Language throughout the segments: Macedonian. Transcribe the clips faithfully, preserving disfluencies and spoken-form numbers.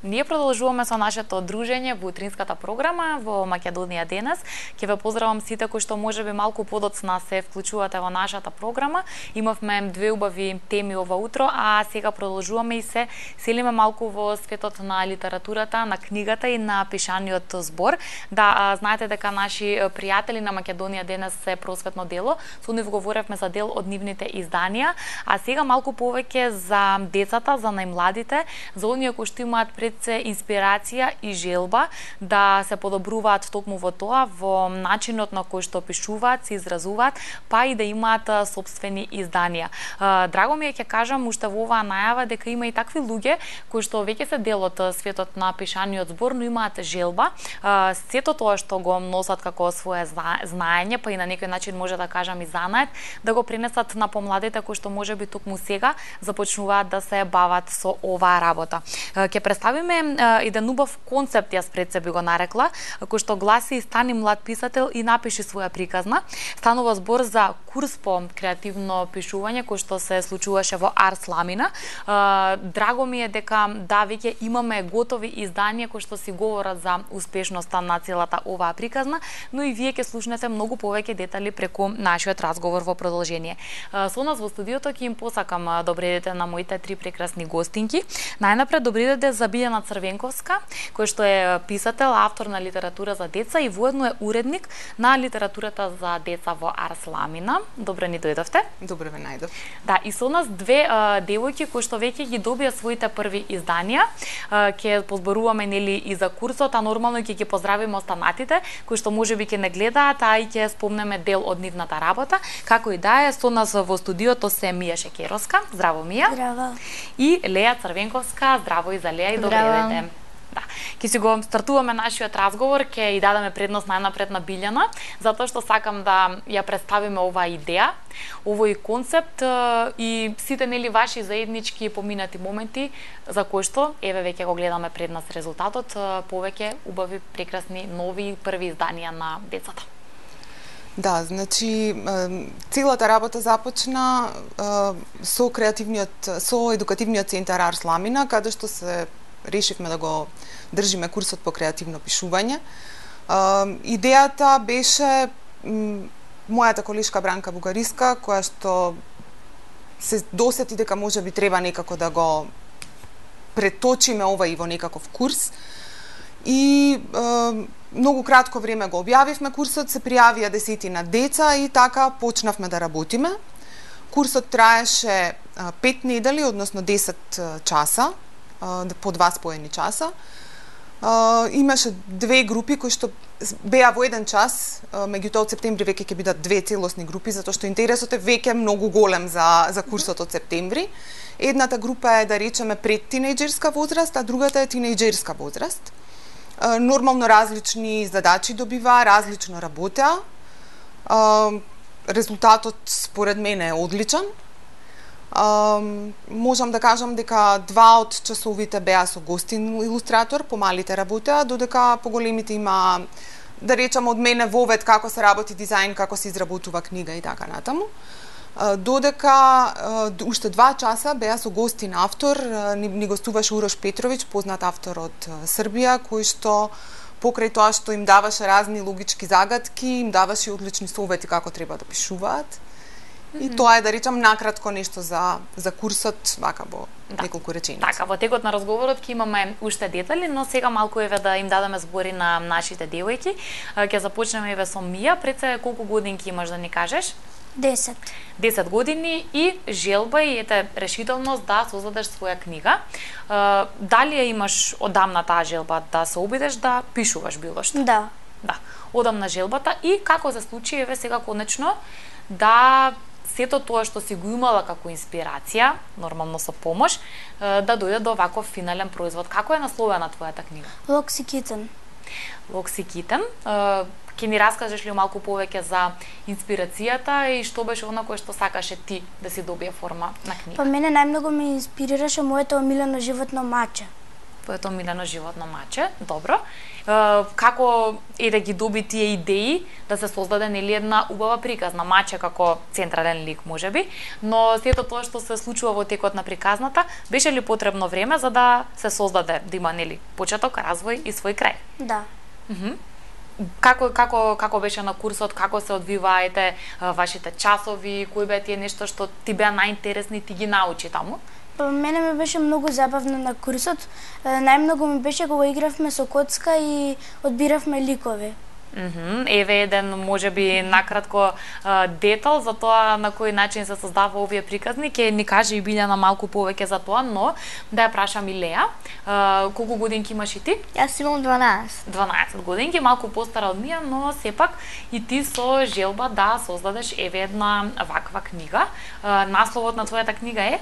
Ние продолжуваме со нашето дружење во утринската програма во Македонија денес. Ќе ве поздравам сите кои што можеби малку подоцна се вклучувате во нашата програма. Имавме две убави теми ова утро, а сега продолжуваме и се селиме малку во светот на литературата, на книгата и на пишаниот збор. Да, знаете дека наши пријатели на Македонија денес се просветно дело, со нив говоревме за дел од нивните изданија, а сега малку повеќе за децата, за најмладите, за оние кои што имаат пред се инспирација и желба да се подобруваат токму во тоа, во начинот на кој што пишуваат, се изразуваат, па и да имаат сопствени изданија. Драго ми е ќе кажам уште во оваа најава дека има и такви луѓе кои што веќе се дел од светот на пишаниот збор, но имаат желба сето тоа што го носат како свое знаење, па и на некој начин може да кажам и занает, да го пренесат на помладите кои што можеби токму сега започнуваат да се бават со оваа работа. Ќе представиме еден убав концепт, јас пред себе го нарекла, кој што гласи "Стани млад писател и напиши своја приказна". Станува збор за курс по креативно пишување кој што се случуваше во Арс Ламина. Драго ми е дека да веќе имаме готови изданија кои што си говорат за успешноста на целата оваа приказна, но и вие ќе слушнете многу повеќе детали преку нашиот разговор во продолжение. Со нас во студиото ќе им посакам добри дете на моите три прекрасни гостинки. Најнапред добри дете за Билјана Црвенковска, кој што е писател, автор на литература за деца и воедно е уредник на литературата за деца во Арс Ламина. Добро ни дојдовте. Добро ве најдов. Да, и со нас две а, девојки кои што веќе ги добија своите први изданија. А, ќе позборуваме нели и за курсот, а нормално ќе ги поздравиме останатите кои што можеби ќе не гледаат, а и ќе спомнеме дел од нивната работа. Како и да е, со нас во студиото се Мија Шекеровска. Здраво, Мија. Здраво. И Леја Црвенковска. Здраво и за Леја и добре дете. Да. Ќе си го стартуваме нашиот разговор, ќе и дадеме предност најнапред на Билјана, затоа што сакам да ја представиме оваа идеја, овој концепт и сите нели ваши заеднички поминати моменти за кои што еве веќе го гледаме пред нас резултатот, повеќе убави, прекрасни, нови први изданија на децата. Да, значи целата работа започна со креативниот, со едукативниот центар Арс Ламина, каде што се решивме да го држиме курсот по креативно пишување. Идејата беше мојата колешка Бранка Бугариска, која што се досети дека може би треба некако да го преточиме ова и во некаков курс. И е, многу кратко време го објавивме курсот, се пријавија десетина деца и така почнавме да работиме. Курсот траеше пет недели, односно десет часа, по два споени часа. Имаше две групи кои што беа во еден час, меѓутоа од септември веќе ќе бидат две целосни групи, затоа што интересот е веќе многу голем за, за курсот од септември. Едната група е, да речеме, пред тинејџерска возраст, а другата е тинејџерска возраст. Нормално различни задачи добива, различно работеа. Резултатот според мене е одличен. Можам да кажам дека два од часовите беа со гостин илустратор, помалите работеа, додека поголемите има, да речам, од мене вовед како се работи дизајн, како се изработува книга и така натаму. Додека уште два часа беа со гостин автор, ни, ни гостуваше Урош Петровиќ, познат автор од Србија, кој што покрај тоа што им даваше разни логички загадки, им даваше одлични совети како треба да пишуваат. И mm -hmm. тоа е, да речам, накратко нешто за за курсот, вака во да. неколку реченици. Така, во текот на разговорот ќе имаме уште детали, но сега малку еве да им дадеме збори на нашите девојки. Ќе започнеме еве со Мија. Пред се колку годинки имаш да ни кажеш? десет. десет години и желба и ете решителност да создадеш своја книга. Дали ја имаш одамна таа желба да се обидеш да пишуваш било што? Да. Да. Одамна желбата и како се случи еве сега конечно да сето тоа што си го имала како инспирација, нормално со помош, да дојде до ваков финален производ. Како е насловена твојата книга? Локси Китен. Локси Китен. Ќе ни раскажеш ли малку повеќе за инспирацијата и што беше она кое што сакаше ти да си добие форма на книга? Па мене најмногу ме инспирираше моето омилено животно маче. твоето милено животно маче, добро. Како е да ги доби тие идеи да се создаде нели една убава приказна, маче како централен лик можеби, но сето тоа што се случува во текот на приказната, беше ли потребно време за да се создаде, да има нели почеток, развој и свој крај? Да. Mm-hmm. Како како како беше на курсот, како се одвиваете вашите часови, кои беа тие нешто што ти беа најинтересни, ти ги научи таму? Мене ми беше многу забавно на курсот. Најмногу ми беше кога игравме со коцка и одбиравме ликови. Mm-hmm. Еве еден можеби накратко детал за тоа на кој начин се создава овие приказни, ќе ни каже и Билјана малку повеќе за тоа, но да ја прашам и Леа, колку годинки имаш и ти? Јас имам дванаесет. дванаесет годинки, малку постара од ние, но сепак и ти со желба да создадеш еве една ваква книга. Насловот на твојата книга е?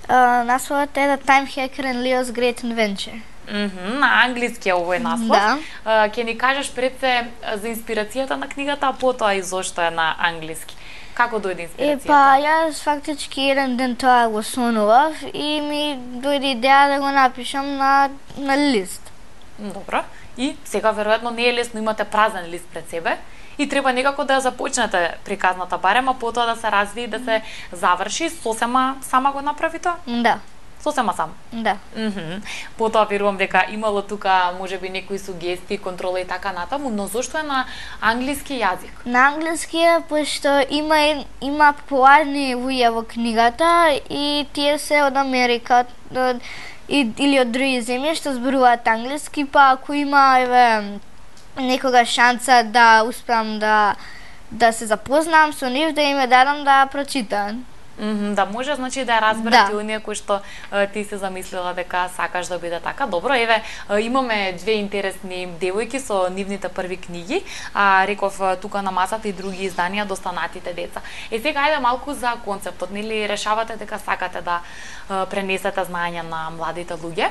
Uh, насловот е The Time Hacker and Leo's Great Invention. Mm -hmm, на англиски е овој наслов. Да. Uh, Ке ни кажеш пред се за инспирацијата на книгата, а потоа и зошто е на англиски. Како дојде инспирацијата? Е, па, јас фактички еден ден тоа го сонував и ми дојде идеја да го напишам на, на лист. Добро. И сега веројатно не е лесно, имате празен лист пред себе и треба некако да ја започнете приказната барем, а потоа да се развие и да се заврши. Сосема сама го направи тоа? Да. Сосема сам? Да. Mm-hmm. Потоа верувам дека имало тука можеби некои сугестии, контрола и така натаму, но зошто е на англиски јазик? На англиски е пошто има има популарни луѓе во книгата и тие се од Америка од, и, или од други земји што зборуваат англиски, па ако има еве некога шанса да успеам да да се запознам со нив, да им ја дадам да прочитаат. Mm -hmm, да може, значи да ја разберат да. и оние кои што а, ти се замислила дека сакаш да биде така. Добро, еве а, имаме две интересни девојки со нивните први книги, а реков а, тука на масата и други изданија достанатите деца. Е сега ајде малку за концептот, нели решавате дека сакате да а, пренесете знаење на младите луѓе.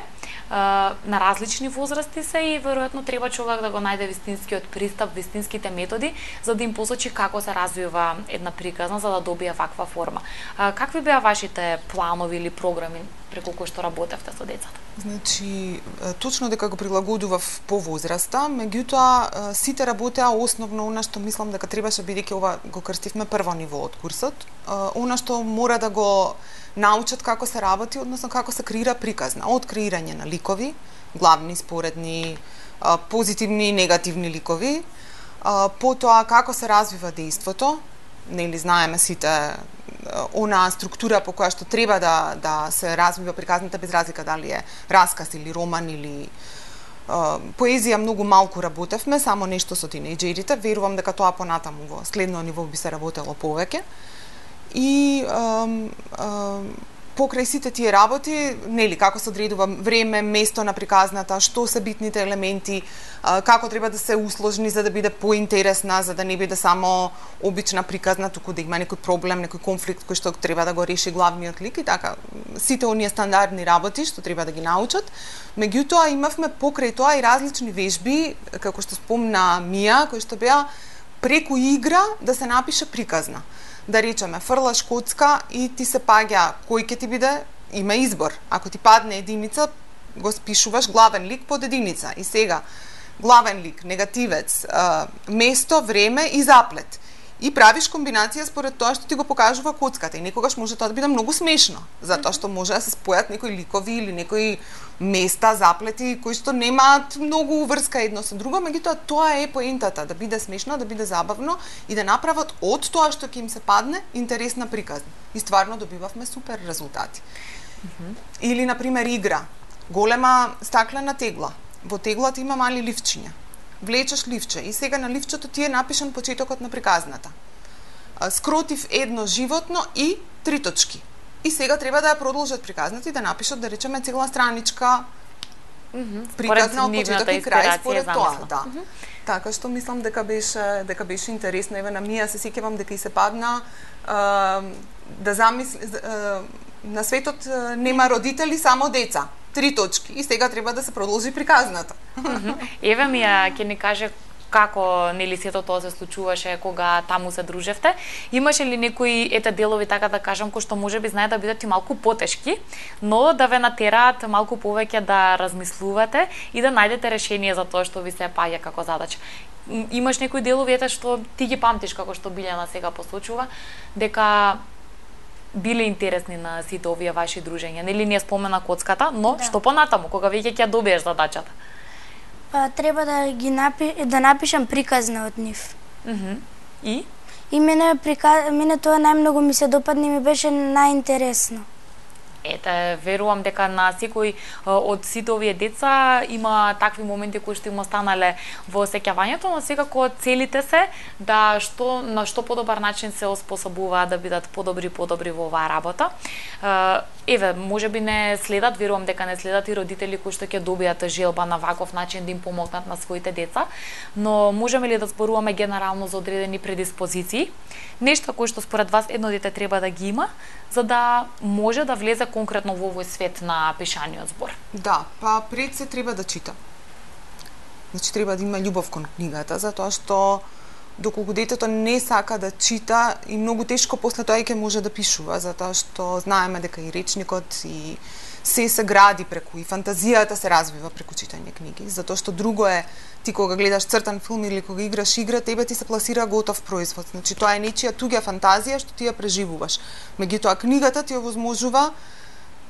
А, на различни возрасти се и веројатно треба човек да го најде вистинскиот пристап, вистинските методи за да им посочи како се развива една приказна за да добие ваква форма. А, какви беа вашите планови или програми преку кои што работевте со децата? Значи, точно дека го прилагодував по возраста, меѓутоа сите работеа основно она што мислам дека требаше, бидејќи ова го крстивме прво ниво од курсот, она што мора да го научат како се работи, односно како се креира приказна, од креирање на ликови, главни, споредни, позитивни и негативни ликови, потоа како се развива дејството, нели знаеме сите она структура по која што треба да да се развива приказната без разлика дали е расказ или роман или uh, поезија многу малку работевме, само нешто со тинејџерите, верувам дека тоа понатаму во следно ниво би се работело повеќе. И um, um, покрај сите тие работи, нели, како се одредува време, место на приказната, што се битните елементи, како треба да се усложни за да биде поинтересна, за да не биде само обична приказна, туку да има некој проблем, некој конфликт кој што треба да го реши главниот лик и така. Сите оние стандардни работи што треба да ги научат. Меѓутоа имавме покрај тоа и различни вежби, како што спомна Мија, кои што беа преку игра да се напише приказна. Да речеме, фрлаш коцка и ти се паѓа кој ќе ти биде, има избор. Ако ти падне единица, го спишуваш главен лик под единица. И сега, главен лик, негативец, место, време и заплет. И правиш комбинација според тоа што ти го покажува коцката. И некогаш може тоа да биде многу смешно, затоа што може да се спојат некои ликови или некои места, заплети кои што немаат многу врска едно со друго, меѓутоа тоа е поентата, да биде смешно, да биде забавно и да направат од тоа што ќе им се падне интересна приказна. И стварно добивавме супер резултати. Mm-hmm. Или на пример игра, голема стаклена тегла. Во теглата има мали ливчиња. Влечеш ливче и сега на ливчето ти е напишан почетокот на приказната. Скротив едно животно и три точки. И сега треба да ја продолжат приказната и да напишат, да речеме, цела страничка mm-hmm. приказна од почеток и крај според тоа. Да. Mm-hmm. Така што мислам дека беше дека беше интересно. Еве на Мија се сеќавам дека и се падна а, да замисли а, на светот нема родители, само деца. Три точки и сега треба да се продолжи приказната. Еве Мија ќе ни каже како нели сето тоа се случуваше кога таму се дружевте. Имаше ли некои ете делови, така да кажам, кои што можеби знае да бидат и малку потешки, но да ве натераат малку повеќе да размислувате и да најдете решение за тоа што ви се паѓа како задача? Имаш некои делови ете што ти ги памтиш, како што Билјана сега посочува, дека биле интересни на сите овие ваши дружења? Нели не спомена коцката, но да. Што понатаму, кога веќе ќе добиеш задачата? Па треба да ги напи... да напишам приказна од нив. Mm -hmm. И? И мене, прика... мене тоа најмногу ми се допадна и ми беше најинтересно. Ете, верувам дека на секој од сите овие деца има такви моменти кои што им останале во сеќавањето, но секако целите се да што на што подобар начин се оспособуваат да бидат подобри подобри во оваа работа. Еве, можеби не следат, верувам дека не следат и родители кои што ќе добијат желба на ваков начин да им помогнат на своите деца, но можеме ли да зборуваме генерално за одредени предиспозиции, нешто кои што според вас едно дете треба да ги има за да може да влезе конкретно во овој свет на пишаниот збор? Да, па пред се треба да чита. Значи треба да има љубов кон книгата, затоа што доколку детето не сака да чита и многу тешко после тоа ќе може да пишува, затоа што знаеме дека и речникот и се се гради преку и фантазијата се развива преку читање книги, затоа што друго е ти кога гледаш цртан филм или кога играш игра, тебе ти се пласира готов производ. Значи тоа е нечија туѓа фантазија што ти ја преживуваш. Меѓутоа книгата ти овозможува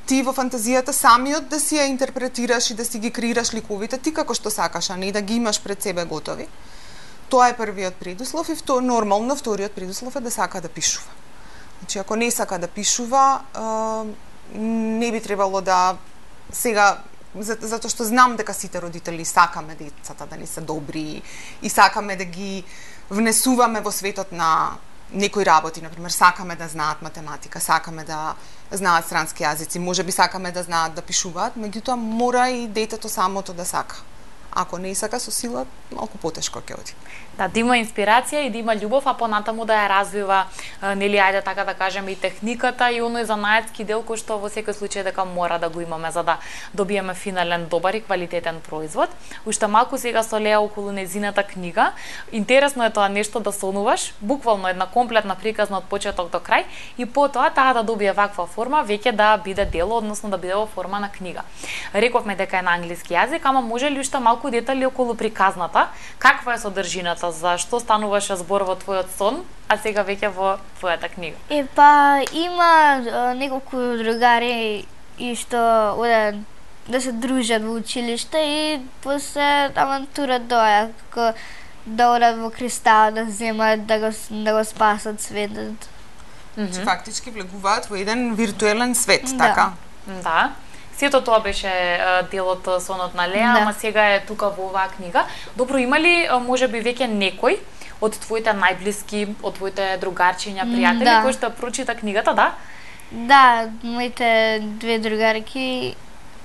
ти во фантазијата самиот да си ја интерпретираш и да си ги креираш ликовите ти како што сакаш, а не да ги имаш пред себе готови. Тоа е првиот предуслов и втор, нормално вториот предуслов е да сака да пишува. Значи ако не сака да пишува, не би требало да сега затоа што знам дека сите родители сакаме децата да ни се добри и сакаме да ги внесуваме во светот на некои работи, например сакаме да знаат математика, сакаме да знаат странски јазици, можеби сакаме да знаат да пишуваат, меѓутоа мора и детето самото да сака. Ако не сака со сила, малку потешко ќе оди. Да, да има инспирација и да има љубов, а понатаму да ја развива, нели, ајде така да кажеме, и техниката и оној занаетски дел кој што во секој случај дека мора да го имаме за да добиеме финален добар и квалитетен производ. Уште малку сега со Леа околу нејзината книга. Интересно е тоа нешто да сонуваш, буквално една комплетна приказна од почеток до крај и потоа таа да добие ваква форма, веќе да биде дело, односно да биде во форма на книга. Рековме дека е на англиски јазик, ама може ли уште малку детали околу приказната? Каква е содржината? За што стануваше збор во твојот сон, а сега веќе во твојата книга? Е, па, има а, неколку другари и што одат да се дружат во училиште и после авантура доја, како да одат во кристал, да земат, да го, да го спасат светот. Mm -hmm. Фактички влегуваат во еден виртуелен свет, да. така? Да. Сето тоа беше дел од сонот на Леа, да. Ама сега е тука во оваа книга. Добро, има ли можеби веќе некој од твоите најблиски, од твоите другарчиња, пријатели, да. Кој што прочита книгата, да? Да, моите две другарки,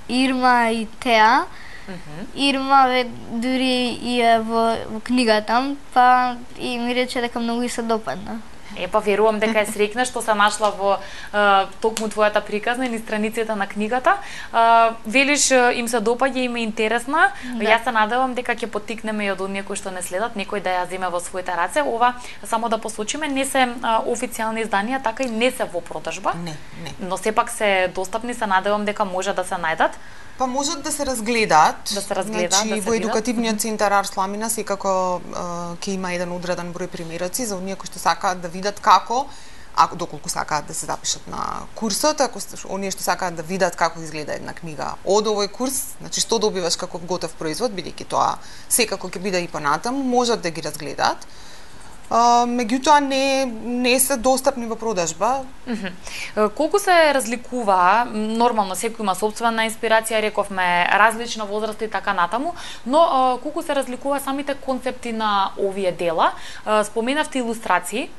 Ирма и Теа. Mm -hmm. Ирма ве дури и е во, во книгата, па и ми рече дека многу и се допадна. Е, па верувам дека е среќна што се нашла во е, токму твојата приказна и страниците на книгата. Е, велиш им се допаѓа, им е интересна. Да. Јас се надевам дека ќе поттикнеме и од оние кои што не следат, некој да ја земе во своите раце. Ова, само да посочиме, не се а, официјални изданија, така и не се во продажба. Не, не. Но сепак се достапни, се надевам дека може да се најдат. Па можат да се разгледаат. Да се разгледаат, значи, да се во едукативниот центар Арт Сламина секако ќе има еден одреден број примероци за оние кои што сакаат да видат како, ако доколку сакаат да се запишат на курсот, ако оние што сакаат да видат како изгледа една книга од овој курс, значи што добиваш како готов производ, бидејќи тоа секако ќе биде и понатаму, можат да ги разгледаат. Uh, меѓутоа не не се достапни во продажба. Mm -hmm. Колку се разликува, нормално секој има сопствена инспирација, рековме различна возраст и така натаму, но uh, колку се разликува самите концепти на овие дела? Uh, споменавте илустрации,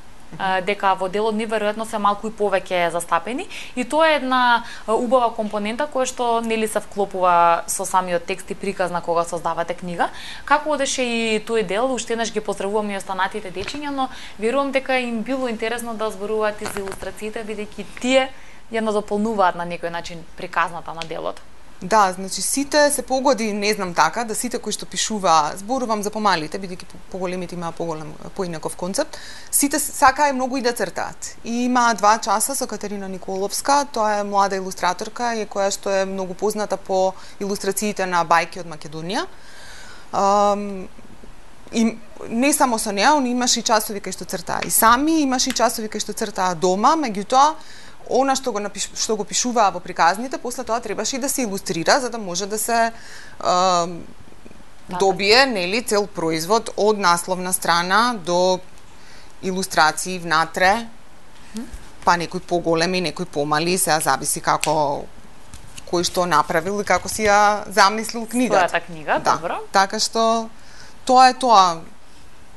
дека во делот ни веројатно се малку и повеќе застапени и тоа е една убава компонента која што нели се вклопува со самиот текст и приказна кога создавате книга. Како одеше и тој дел? Уште еднаш ги поздравувам и останатите дечиња, но верувам дека им било интересно да зборуваат и за илустрациите, бидејќи тие ја надополнуваат на некој начин приказната на делот. Да, значи сите се погоди, не знам така, да сите кои што пишува, зборувам за помалите, бидејќи поголемите имаа поголем поинаков концепт, сите сакаат многу и да цртаат. И има два часа со Катерина Николовска, тоа е млада илустраторка и која што е многу позната по илустрациите на бајки од Македонија. Um, и не само со неа, он имаше и часови кај што цртаа и сами, имаше и часови кај што цртаа дома, меѓутоа она што го напиш, што го пишуваа во приказните, после тоа требаше и да се илустрира за да може да се е, добие, нели, цел производ од насловна страна до илустрации внатре, па некои поголеми, некои помали, сега зависи како кој што направил и како си ја замислил книгата. Својата книга, да, добро. Така што тоа е тоа.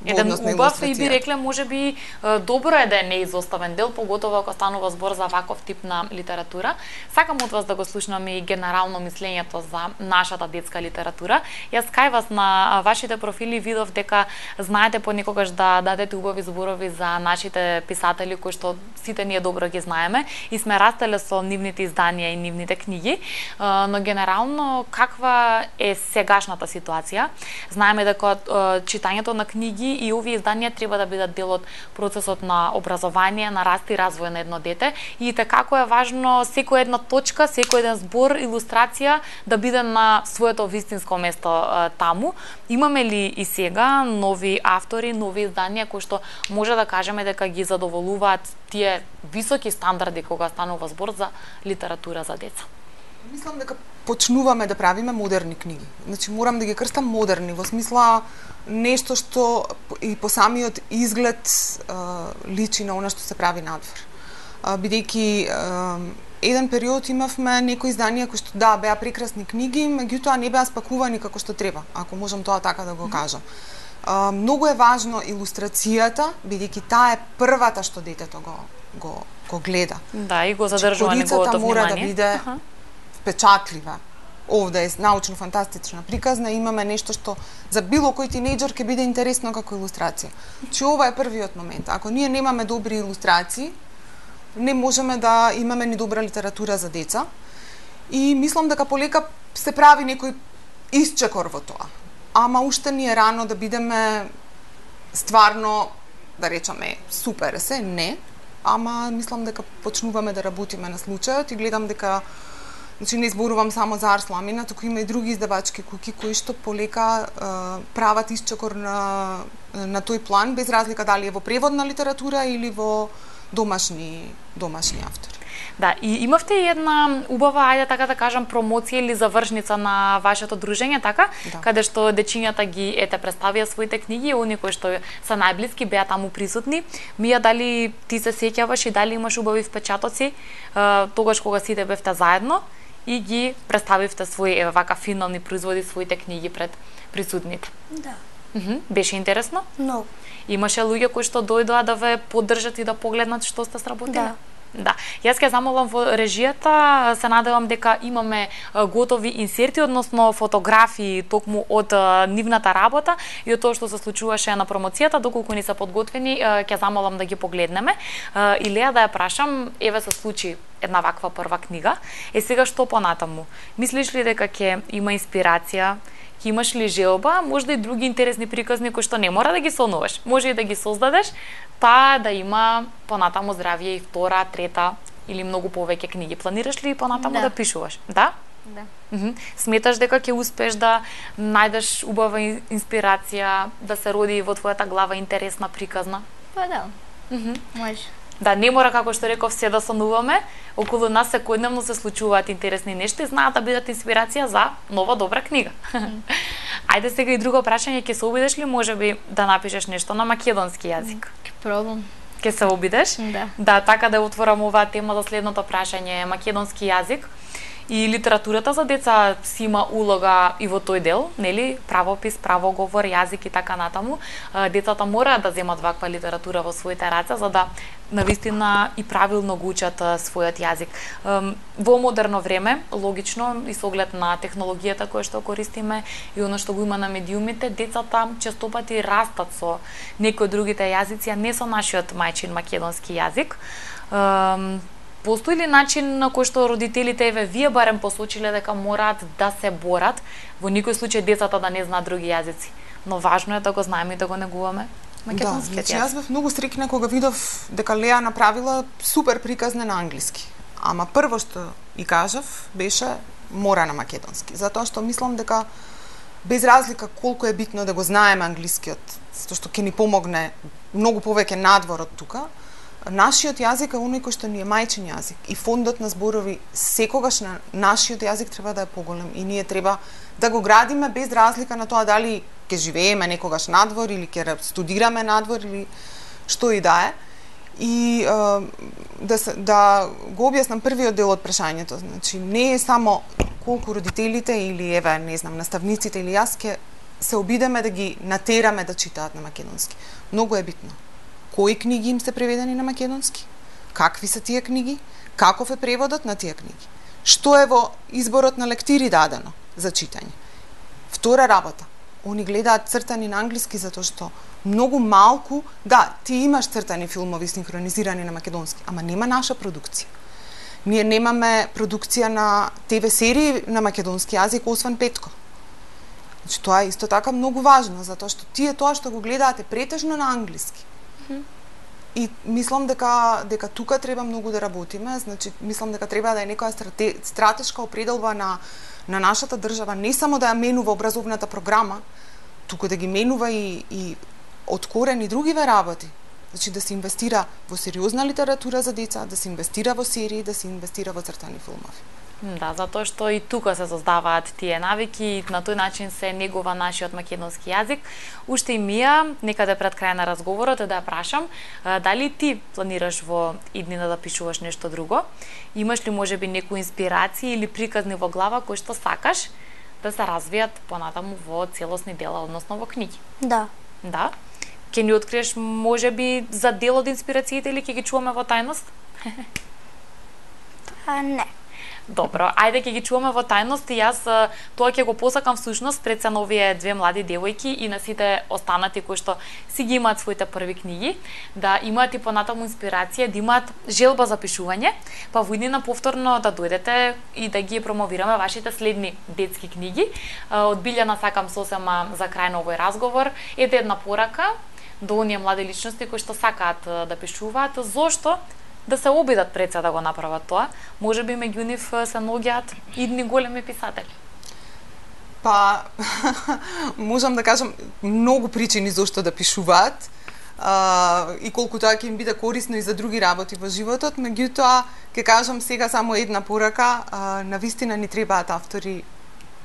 Еден убав и би рекле можеби добро е да е неизоставен дел, поготово ако станува збор за ваков тип на литература. Сакам од вас да го слушнам и генерално мислењето за нашата детска литература. Јас кај вас на вашите профили видов дека знаете понекогаш да дадете убави зборови за нашите писатели кои што сите ние добро ги знаеме и сме растеле со нивните изданија и нивните книги, но генерално каква е сегашната ситуација? Знаеме дека читањето на книги и овие изданија треба да бидат дел од процесот на образование, на раст и развој на едно дете и како е важно секоја една точка, секој еден збор, илустрација да биде на своето вистинско место а, таму. Имаме ли и сега нови автори, нови изданија кои што може да кажеме дека ги задоволуваат тие високи стандарди кога станува збор за литература за деца? Мислам дека почнуваме да правиме модерни книги. Значи морам да ги крстам модерни во смисла нешто што и по самиот изглед а, личи на она што се прави надвор. А, бидејќи а, еден период имавме некои изданија кои што да беа прекрасни книги, меѓутоа не беа спакувани како што треба, ако можам тоа така да го кажам. А, многу е важно илустрацијата, бидејќи таа е првата што детето го го го гледа. Да, и го задржува неговото внимание. Мора да биде uh-huh. впечатлива. Овде е научно-фантастична приказна, имаме нешто што за било кој тинејџер ќе биде интересно како илустрација. Че ова е првиот момент. Ако ние немаме добри илустрации, не можеме да имаме ни добра литература за деца. И мислам дека полека се прави некој исчекор во тоа. Ама уште ни е рано да бидеме стварно, да речеме, супер се, не. Ама мислам дека почнуваме да работиме на случајот и гледам дека значи не зборувам само за Арс Ламина, туку има и други издавачки куки кои што полека е, прават исчекор на на тој план без разлика дали е во преводна литература или во домашни домашни автори. Да, и имавте и една убава, ајде така да кажам, промоција или завршница на вашето дружење, така? Да. Каде што дечињата ги ете представија своите книги, и они кои што се најблиски беа таму присутни. Мија, дали ти се сеќаваш и дали имаш убави впечатоци тогаш кога сите бевте заедно и ги представивте свои еве вака финални производи, своите книги пред присутните? Да. Мхм, беше интересно? Многу. Имаше луѓе кои што дојдоа да ве поддржат и да погледнат што сте сработили? Да. Да. Јас ќе замолам во режијата, се надевам дека имаме готови инсерти, односно фотографии токму од нивната работа и од тоа што се случуваше на промоцијата, доколку ни се подготвени, ќе замолам да ги погледнеме. И Леа, да ја прашам, еве се случи една ваква прва книга. Е сега што понатаму? Мислиш ли дека ќе има инспирација? Ќе имаш ли желба, можда и други интересни приказни кои што не мора да ги сонуваш, може и да ги создадеш, па да има понатаму здравје и втора, трета или многу повеќе книги. Планираш ли понатаму да, да пишуваш? Да? Да. Mm-hmm. Сметаш дека ќе успеш да најдеш убава инспирација, да се роди во твојата глава интересна приказна? Па да. Mm-hmm. Може. Да, не мора, како што реков, се да сонуваме. Околу нас секојдневно се случуваат интересни нешта и знаат да бидат инспирација за нова добра книга. Mm. Ајде сега и друго прашање, ќе се обидеш ли можеби да напишеш нешто на македонски јазик? Ќе пробам. Ќе се обидеш? Да. Да, така да отворам оваа тема за следното прашање, македонски јазик. И литературата за деца си има улога и во тој дел, нели? Правопис, правоговор, јазик и така натаму. Децата мораат да земат ваква литература во своите раце за да навистина и правилно го учат својот јазик. Во модерно време, логично и со оглед на технологијата која што користиме и оно што го има на медиумите, децата честопати растат со некои од другите јазици, а не со нашиот мајчин македонски јазик. Постои ли начин на кој што родителите, еве вие барем посочиле дека мораат да се борат, во никој случај децата да не знаат други јазици, но важно е да го знаеме и да го негуваме македонскиот јазик. Да, значи јазик. јас бев многу стрикна кога видов дека Леа направила супер приказна на англиски. Ама прво што и кажав беше мора на македонски, затоа што мислам дека без разлика колку е битно да го знаеме англискиот, затоа што ќе ни помогне многу повеќе надвор од тука, нашиот јазик е оној кој што ни е мајчин јазик и фондот на зборови секогаш на нашиот јазик треба да е поголем и ние треба да го градиме без разлика на тоа дали ќе живееме некогаш надвор или ќе студираме надвор или што и да е. И да, да го објаснам првиот дел од прашањето, значи не е само колку родителите или еве не знам наставниците или јас ќе се обидеме да ги натераме да читаат на македонски. Многу е битно. Кои книги им се преведени на македонски? Какви се тие книги? Каков е преводот на тие книги? Што е во изборот на лектири дадено за читање? Втора работа. Они гледаат цртани на англиски затоа што многу малку, да, ти имаш цртани филмови синхронизирани на македонски, ама нема наша продукција. Ние немаме продукција на те ве серии на македонски јазик освен Петко. Значи тоа е исто така многу важно затоа што тие тоа што го гледаат е претежно на англиски. Mm-hmm. И мислам дека дека тука треба многу да работиме, значи мислам дека треба да е некоја страте, стратешка определба на на нашата држава, не само да ја менува образовната програма, туку да ги менува и и од корен и другиве работи. Значи да се инвестира во сериозна литература за деца, да се инвестира во серии, да се инвестира во цртани филмови. Да, затоа што и тука се создаваат тие навики и на тој начин се негува нашиот македонски јазик. Уште и Мија, некаде пред крај на разговорот, да ја прашам, дали ти планираш во иднина да пишуваш нешто друго? Имаш ли можеби некои инспирации или приказни во глава кои што сакаш да се развијат понатаму во целосни дела, односно во книги? Да. Да? Ќе ни откриеш можеби за дел од инспирациите или ќе ги чуваме во тајност? А, не. Добро, ајде ќе ги чуваме во тајност и јас тоа ќе го посакам всушност пред се на овие две млади девојки и на сите останати кои што си ги имаат своите први книги, да имаат и понатаму инспирација, да имаат желба за пишување, па во иднина повторно да дојдете и да ги промовираме вашите следни детски книги. Од Билјана сакам сосема за крај на овој разговор ете една порака до оние млади личности кои што сакаат да пишуваат, зошто да се обидат пред се да го направат тоа, можеби меѓу нив се наоѓаат идни големи писатели. Па, можам да кажам многу причини зошто да пишуваат а, и колку тоа ќе им биде корисно и за други работи во животот, меѓутоа ќе кажам сега само една порака, а, навистина ни требаат автори,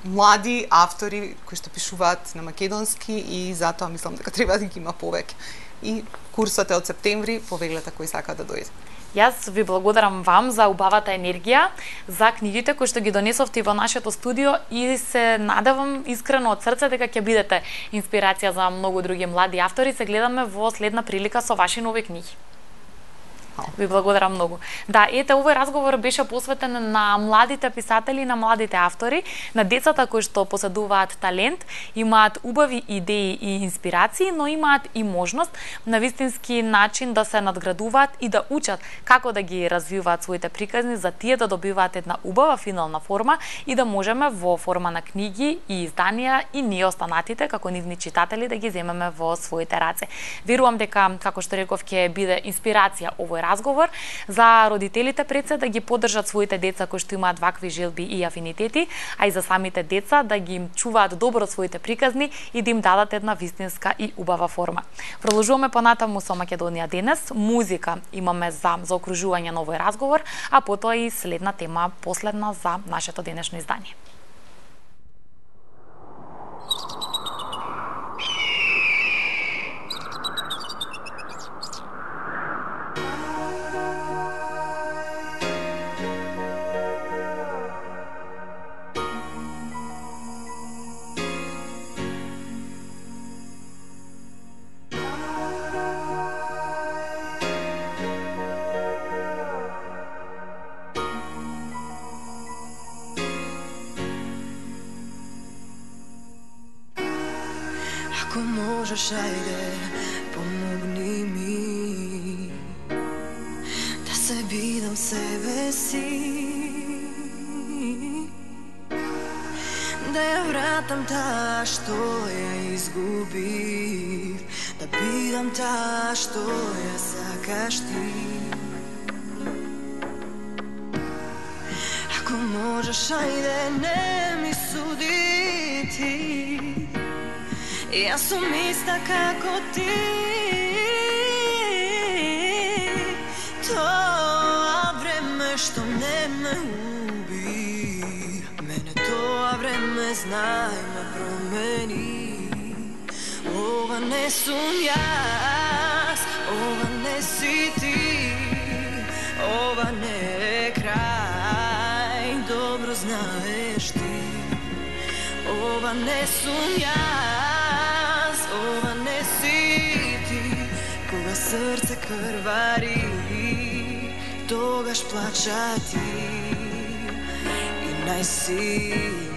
млади автори кои што пишуваат на македонски и затоа мислам дека треба да ги има повеќе. И курсот е од септември, повеглете кои сака да дојде. Јас ви благодарам вам за убавата енергија, за книгите кои што ги донесовте во нашето студио и се надевам искрено од срце дека ќе бидете инспирација за многу други млади автори. Се гледаме во следна прилика со ваши нови книги. Ви благодарам многу. Да, ете, овој разговор беше посветен на младите писатели, на младите автори, на децата кои што поседуваат талент, имаат убави идеи и инспирации, но имаат и можност на вистински начин да се надградуваат и да учат како да ги развиваат своите приказни, за тие да добиваат една убава финална форма и да можеме во форма на книги и изданија и ние останатите како нивни читатели да ги земеме во своите раце. Верувам дека, како што реков, ќе биде инспирација овој разговор за родителите пред се да ги поддржат своите деца кои што имаат вакви желби и афинитети, а и за самите деца да ги им чуваат добро своите приказни и да им дадат една вистинска и убава форма. Продолжуваме понатаму со Македонија денес. Музика имаме за заокружување на овој разговор, а потоа и следна тема, последна за нашето денешно издание. Ако можеш, ајде, помогни ми да се видам себе си, да ја вратам таа што ја изгубив, да бидам таа што ја сакаш ти. Ако можеш, ајде, не ми суди ти, јас сум иста како ти. Тоа време што не ме уби, мене тоа време знај ме промени. Ова не сум јас, ова не си ти, ова не е крај, добро знаеш ти. Ова не сум јас, ова не си ти, кога срце крвари, тогаш плача ти и најсилни.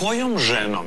Којом женом